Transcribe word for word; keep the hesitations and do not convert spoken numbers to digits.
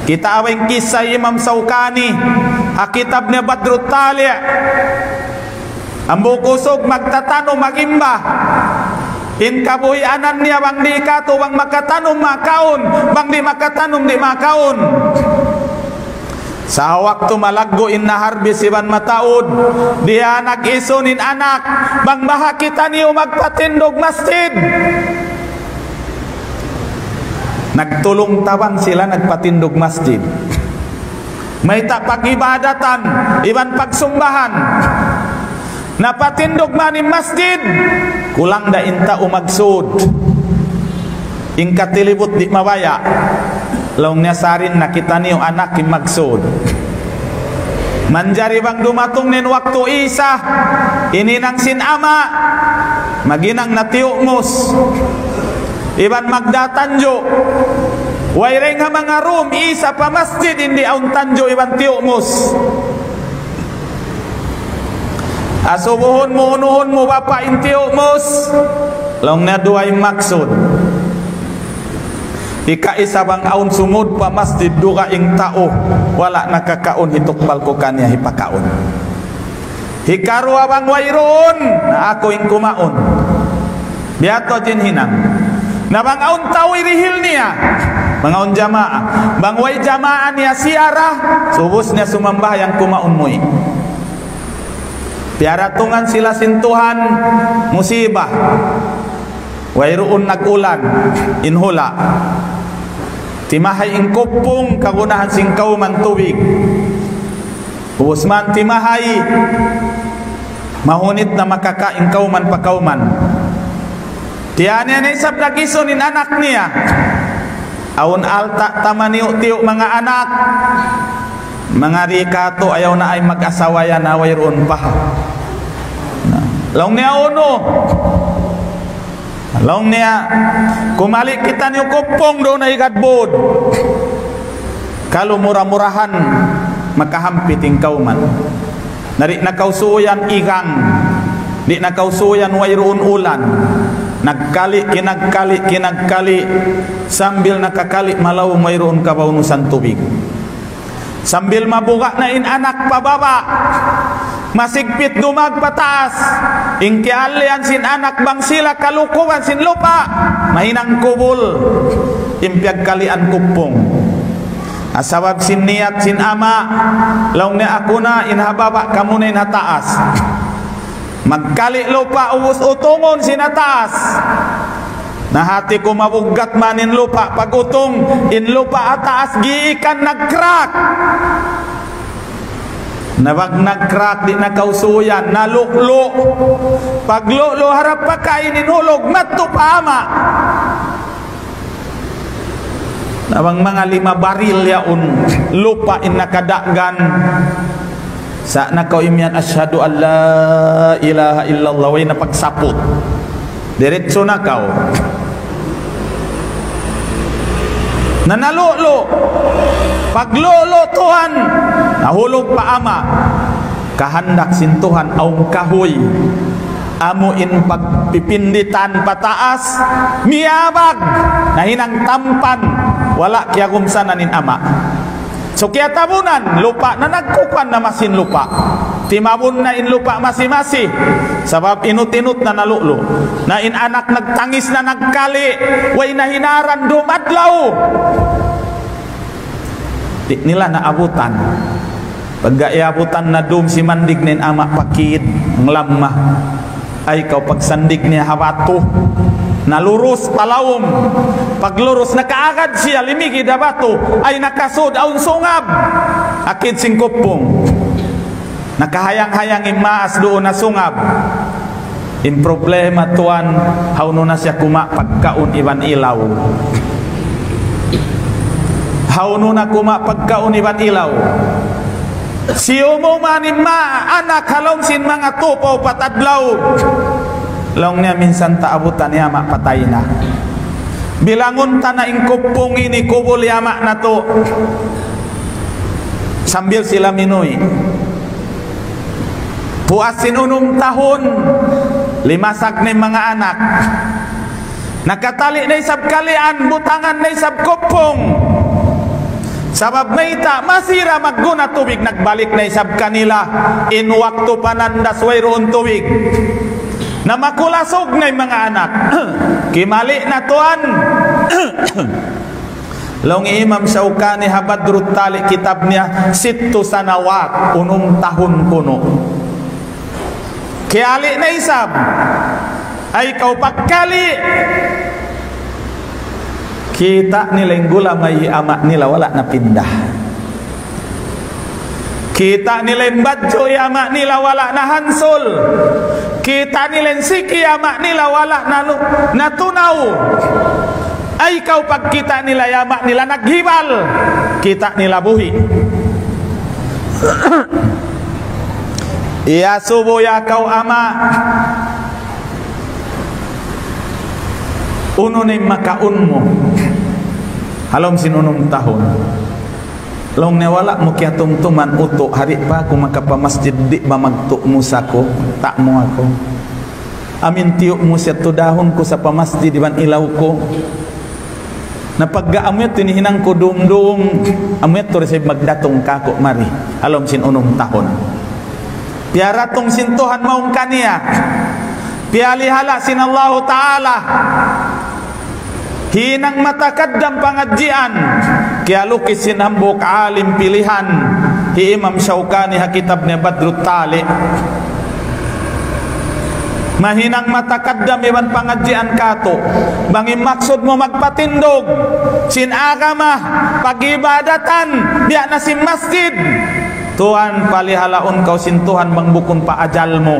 Kita' awn kissa Imam Sawkani, ha kitab niya Badrut Tali'. Amu kusug magtatanum, magimba. In kabuhianan niya bang di' katu', bang makatanum makaun, bang di' makatanum di' makaun. Sa' waktu malaggu' in naharbis iban mataud, diya nag-isun in anak, bang baha' kitaniyu magpatindug masjid. Nagtulung-tabang sila nagpatindug masjid. Mayta' pag-ibadatan iban pagsumbahan. Napatindug man in masjid, kulang da in tau magsud. In katilibut di' mabaya'. Laung niya, "Sarin na kitaniyu anak in magsud." Manjari bang dumatung in waktu Isa, in hinang sin ama', maghinang na tiyumus. Iban magdatanju'. Wayruun ha manga rum, Isa pa masjid, in di' awn tanju' iban tiyumus. Asubuhun mu, unuhun mu, bapa' in tiyumus. Laung niya duwa in maksud. Hikaisa bang awn sumud pa masjid dugaing tau, wala' nakakaun, hitukbal ku kaniya hipakaun. Hikaruwa bang wayruun, na aku in kumaun. Biya' tu in hinang. Na bang awn tau hirihil niya, bang awn jamaa. Bang way jamaa niya siya ra, subus niya sumambahayang kumaun muwi'. Piyaratungan sila sin Tuhan, musiba. Wayruun nag-ulan, in hula'. Timahay in kuppung, kagunahan sin kawman tubig. Ubus man timahay, mahunit na makakain kawman pa kawman. Tiyaniya na isab nag-isun in anak niya. Awn alta' tamaniyu-tiyu manga anak. Manga di' katu' ayaw na ay mag-asawa yan, away ruun pa. Laung niya unu. Laung niya, kumali' kitaniyu kuppung duun ha higad būd. Kalu mura-murahan makahampit in kawman. Na di' na kausuyan igang, di' na kausuyan wayruun ulan. Nagkali', kinagkali', kinagkali', sambil nakakali' malaw wayruun kabaunusan tubig. Sambil mabuga' na in anak pa baba', masigpit dumag pa taas. In kiyaallian sin anak bang sila kalukuban sin lupa', mahinang kubul in piyagkalian kuppung. Sabab sin niyat sin ama', laung niya aku na in ha baba', kamu na in ha taas. Magkali' lupa' ubus utungun sin ha taas. Na hati ku mabuggat man in lupa' pag-utung, in lupa' ha taas giikan nag-crack. Na bang nag-crack di' na kausuyan, nalu'lu'. Paglu'lu' harap pakain in hulug, madtu pa ama'. Na bang manga lima baril yaun lupa' in nakadaggan. Sa' na kaw imiyan, "Ashhadu an la ilaha illallah," way na pagsaput. Diretso na kaw. Na nalu'lu'. Paglu'lu' tuwan, nahulug pa ama'. Kahandak sin Tuhan awn kahuy. Amu in pagpipinditan pataas, miyabag, nahinang tampan, wala' kiyagumsanan in ama'. So kiyatabunan, lupa' na nagkukuan na masin lupa'. Timabun na in lupa' masi-masi, sabab inut-inut na nalu'lu'. Na in anak nagtangis na nagkali', way na hinaran dumadlaw. Di' nila naabutan. Pagga iyabutan na dum si mandig na in ama' pakid, ang lamma. Ay kaw pagsandig niya ha batu. Nalurus pa lawm. Paglurus nakaagad siya limigid ha batu. Ay nakasud awn sungab. Akid sin kuppung. Nakahayang-hayang in maas duun ha sungab. In problema tuwan, hawnu na siya kuma' pagkaun iban ilaw. Hawnu na kuma' pagkaun iban ilaw. Siyumu man in ma-, anak ha lawm sin manga tū pa upat adlaw. Laung niya minsan ta abutan niya ama' patay na. Bilangun ta na in kuppung ini kubul hi ama' natu'. Sambil sila minuwi'. Puas sin unum tahun, limasag na in manga anak. Nakatali' na isab kalian, butangan na isab kuppung. Sabab mayta', masi ra magguna tubig, nagbalik na isab kanila in waktu panandas wayruun tubig. Na makulasug na in manga anak. Kimali' na tuwan. Laung hi Imam Shawkani ha Badrut Tali' kitab niya, sittu sanawat, unum tahun kunu'. Kiyali' na isab. Ay, kaw pagkali'. Kita' nila in gulamay hi ama' nila, wala' napinda. Kita' nila in badju' hi ama' nila, wala' nahansul. Kita' nila in siki hi ama' nila, wala' nalu-, natunaw. Ay, kaw pagkita' nila hi ama' nila naghibal, kita' nila buhi'. Iyasubu, "Ya kaw ama', unu na in makaun mu ha lawm sin unum tahun?" Laung niya, "Wala' mu kiyatumtuman, utu', di' pa aku makapamasjid, di' ba magtu' mu sa aku, ta' mu aku. Amin tiyu' mu siya tudahun ku sa pa masjid iban ilaw ku. Na pagga amu yadtu in hinang ku dum-dum, amu yadtu da isab magdatung kāku' mari ha lawm sin unum tahun." Piyaratung sin Tuhan mawn kaniya. Piyalihala' sin Allahu Ta'ala. Hinang matakaddam pangadjian, kiyalukis sin hambuuk alim pilihan, hi Imam Shawkani ha kitab niya Badrut Tali'. Mahinang matakaddam iban pangadjian katu'. Bang in maksud mu magpatindug sin agama, pag-ibadatan, biya' na sin masjid, tuwan, palihalaun kaw sin Tuhan bang bukun pa ajal mu.